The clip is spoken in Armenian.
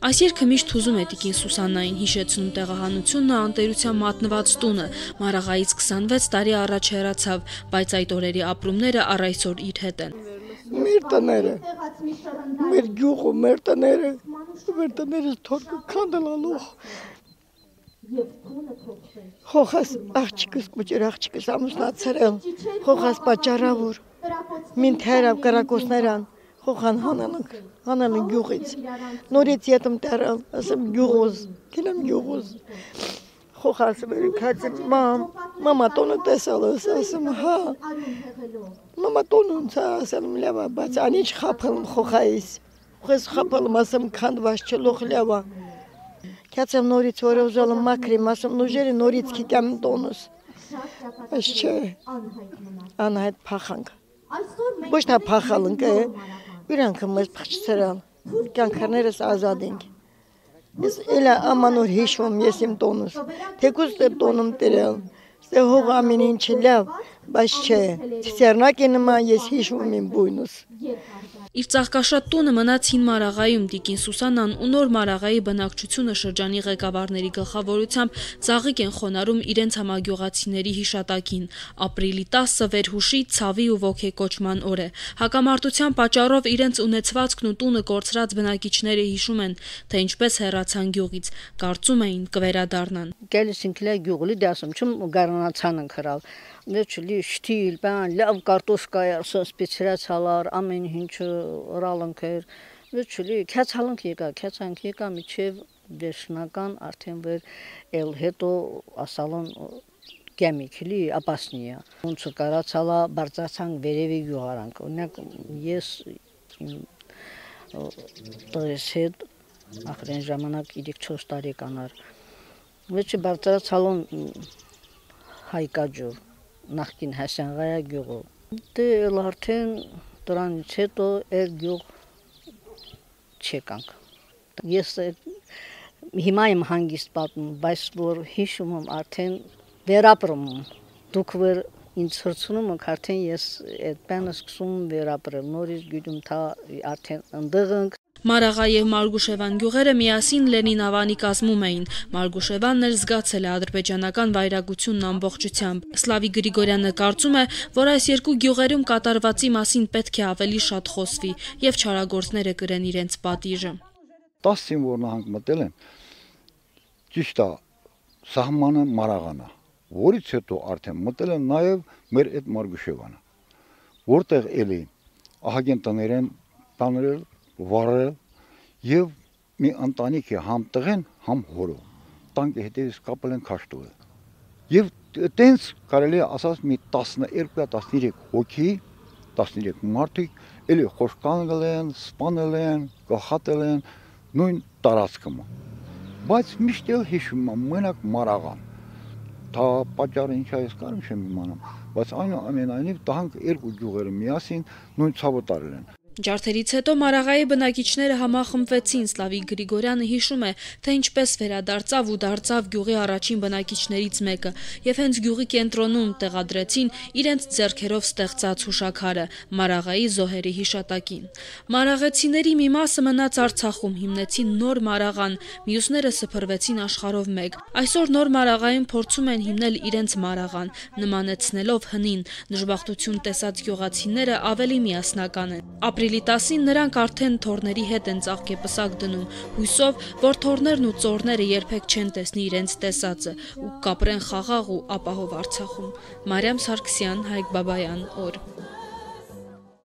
Այս երգը միշտ հուզում է տիկին Սուսաննային, հիշեցնում տեղահանությունն ու անտերության մատնված տունը, Մարաղայից 26 տարի առաջ հեռացավ, բայց այդ օրերի ապրումները առ այսօր իր հետ են։ Մեր տները, մեր գյուղը, մեր տները թորկը քանդալալուղ։ Խոխաս աղջիկս կուճեր աղջիկս ամուսնացրել, խոխաս պատճառավոր, մին թերավ կրակոսներան, խոխան հանելն գյուղից, նորից ետմ տերել, ասեմ գյուղոզ, կինեմ գյուղոզ, խոխաս վերիքած մամա տոնը տեսալ ես, ասեմ հա, մամա տոնն ցա, ասեմ լավա, բայց անիչ խապելմ խոխայիս, խես խապելմ, ասեմ քանդված չլող լավա, կացեմ նորից որ ուզալım մակրիմ, ասեմ նուժերի նորից կիկեմ տոնս, բայց չէ, անհայտ փախանք, ոչ նա փախալնք է, իրանքը մեզ փխչցրալ, կյանքներս ազատ ենք, ես էլա ամանոր հիշվում ես իմ տոնս, թեկուզ տոնım տերել, ստե հող ամեն ինչ լավ, բայց չէ, ցերնակի նման ես հիշվում իմ բույնս։ Իր ծաղկաշատ տունը մնաց հին Մարաղայում, տիկին Սուսաննան ու նոր Մարաղայի բնակչությունը շրջանի ղեկավարների գլխավորությամբ ծաղիկ են խոնարհում իրենց համագյուղացիների հիշատակին։ Ապրիլի 10-ը վերհուշի, ցավի ու ոգեկոչման օր է։ Հակամարտության պատճառով իրենց ունեցվածքն ու տունը կորցրած բնակիչները հիշում են, թե ինչպես հեռացան գյուղից, կարծում էին կվերադառնան։ Գելսինքլա գյուղի դասում չում գառնացան ընկրալ։ Նեչլի շտիլ, բան, լավ կարտոշկայ, սպեցիացալար, ամեն ինչ ռալանքեր, նեչլի քյացալանք եկա միջև դեշնական արդեն վեր էլ հետո ասալon գեմիքլի ապասնիա։ Ոնց կարացալա բարձացան վերևի գյուղարանք։ Օրինակ ես դրես հետ ախրեն ժամանակ 3-4 տարեկան էր։ Մեջը բարձացալon հայկաջուր նախքին Հասանղայա գյուղը։ Դե արդեն դրանից հետո էր գյուղ չեկանք։ Ես հիմա եմ հանգիստ պատմում, բայց որ հիշում եմ արդեն վերապրում եմ։ Դուք վեր ինձ հրցնում եք արդեն ես այդ բանը սկսում վերապրել, նորից գիտում թա արդեն ընդեղ ենք։ Մարաղա եւ Մարգուշևան գյուղերը միասին Լենին ավանի կազմում էին։ Մարգուշևանն էլ զգացել է ադրբեջանական վայրագությունն ամբողջությամբ։ Սլավի Գրիգորյանը կարծում է, որ այս երկու գյուղերում կատարվածի մասին պետք է ավելի շատ խոսվի եւ չարագործները կրեն իրենց պատիժը։ 10 զինվոր նահանգ մտել են, ճիշտ է, սահմանը Մարաղանա, որից հետո արդեն մտել են նաեւ մեր այդ Մարգուշևանը, որտեղ էլի ահագին տներ են տանել վարել եւ մի ընտանիք է համ տղեն, համ հորը։ Տանկի հետևից կապել են քաշտուել։ Եվ տենց կարելի է ասած մի 12-13 հոգի, 13 մարդիկ էլի խոշկանել են, սպանել են, գախատել են նույն տարածքում։ Բայց միշտ էլ հիշում եմ մենակ Մարաղան։ Դա պատճառը ինչ է ես կարում չեմ իմանում, բայց այնուամենայնիվ տահանք երկու գյուղերը միասին նույն ցավը տարել են։ Ջարդերից հետո Մարաղայի բնակիչները համախմբվեցին, Սլավիկ Գրիգորյանը հիշում է, թե ինչպես վերադարձավ ու դարձավ գյուղի առաջին բնակիչներից մեկը, եւ հենց գյուղի կենտրոնում տեղադրեցին իրենց ձեռքերով ստեղծած հուշաքարը Մարաղայի զոհերի հիշատակին։ Մարաղեցիների մի մասը մնաց Արցախում, հիմնեցին նոր Մարաղան, մյուսները սփռվեցին աշխարհով մեկ։ Այսօր նոր Մարաղայում փորձում են հիմնել իրենց Մարաղան, նմանեցնելով հնին, դժբախտություն տեսած գյուղացիները ավելի միասնական են։ Ապրիլի 10-ին նրանք արդեն թորների հետ են ծաղկեպսակ դնում, հույսով, որ թորներն ու ծորները երբեք չեն տեսնի իրենց տեսածը ու կապրեն խաղաղ ու ապահով Արցախում։ Մարիամ Սարգսյան, Հայկ Բաբայան, օր։